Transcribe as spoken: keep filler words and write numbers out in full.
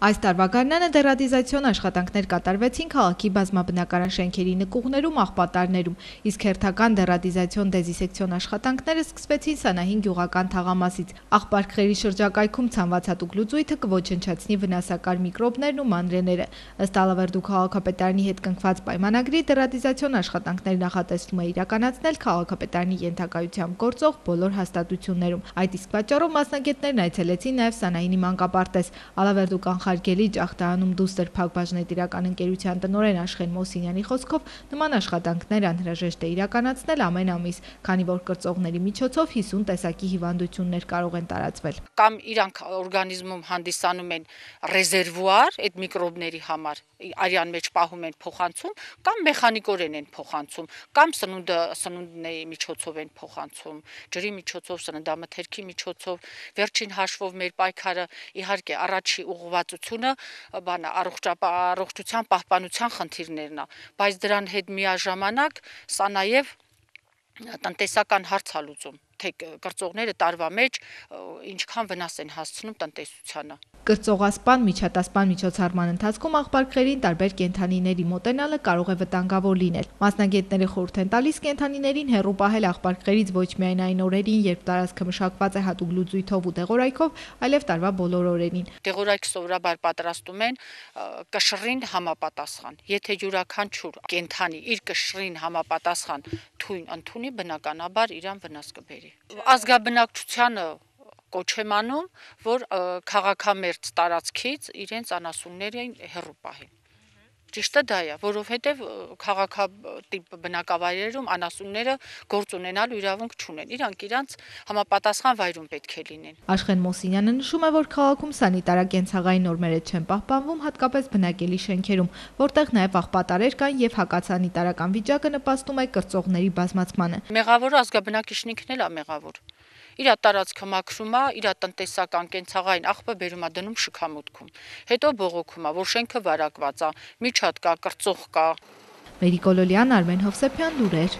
Այս տարվա գարնանը դերատիզացիոն աշխատանքներ կատարվեցին քաղաքի բազմաբնակարան շենքերի նկուղներում, աղբատարներում, իսկ հերթական դերատիզացիոն դեզինսեկցիոն աշխատանքները սկսվեցին Սանահին գյուղական թաղամասից։ Աղբարքերի շրջակայքում ցանցվածատուկ լուծույթը կոչնչացնի վնասակար միկրոբներն ու մանրեները։ Ըստ Ալավերդու քաղաքապետարանի հետ կնքված պայմանագրի դերատիզացիոն աշխատանքներ նախատեսվում է իրականացնել քաղաքապետարանի ենթակայությամբ գործող բոլոր հաստատություններում։ Այդ իսկ պատճառով մասնագետներն այցելեցին նաև Սանահինի մանկապարտեզ։ Ալավերդու կանխարգելի ջախտահանում դուստր Փակbaşնետիրական ընկերության տնօրեն Աշխեն Մոսինյանի խոսքով նման աշխատանքներ անհրաժեշտ է իրականացնել ամեն ամիս, քանի որ կրծողների միջոցով հիսուն տեսակի հիվանդություններ կարող են տարածվել։ Կամ իրանք օրգանիզմում հանդիսանում են ռեզերվուար այդ միկրոբների համար, արյան մեջ պահում են փոխանցում, կամ մեխանիկորեն են փոխանցում, կամ սնունդը սնունդների միջոցով են փոխանցում, ջրի միջոցով, սննդամթերքի միջոցով։ Վերջին հաշվով մեր պայքարը իհարկե առաջի ուղղվածությունը բանը առողջության պահպանության խնդիրներն է, բայց դրան հետ միաժամանակ սա նաև տնտեսական հարց է լուծում, թե կրծողները տարվա մեջ ինչքան վնաս են հասցնում տնտեսությանը։ Կրծողասպան, միջատասպան միջոցառման ընթացքում աղբարքերին տարբեր կենդանիների մոտենալը կարող է վտանգավոր լինել։ Մասնագետները խորհուրդ են տալիս կենդանիներին հեռու պահել աղբարքերից ոչ միայն այն օրերին, երբ տարածքը մշակված է հատուկ լուծույթով ու դեղորայքով, այլև տարվա բոլոր օրերին։ Դեղորայք սովորաբար պատրաստում են կշռին համապատասխան։ Եթե յուրաքանչյուր կենդանի իր կշռին համապատասխան թույն ընդունի, բնականաբար իրան վնաս կբերի։ Ազգաբնակչությանը կոչ եմ անում, որ քաղաքամերձ տարածքից իրենց անասուններին հեռու պահեն։ Ճիշտը դա է, որովհետև քաղաքատիպ բնակավայրերում անասունները գործ ունենալու իրավունք չունեն։ Իրանք իրանց համապատասխան վայրում պետք է լինեն։ Աշխեն Մոսինյանը նշում է, որ քաղաքում սանիտարակենցաղային նորմերը չեն պահպանվում, հատկապես բնակելի շենքերում, որտեղ նաև աղբատարեր կան եւ հակասանիտարական վիճակը նպաստում է կրծողների բազմացմանը։ Մեղավորը ազգաբնակիչն ինքն էլ է մեղավոր։ Իր տարածքը մաքրում է, իր տնտեսական կենցաղային աղբը բերում է դնում շքամուտքում, հետո բողոքում է, որ շենքը վարակված է, միջատ կա, կրծող կա։ Մերիկոլոլյան, Արմեն Հովսեփյան, լուրեր։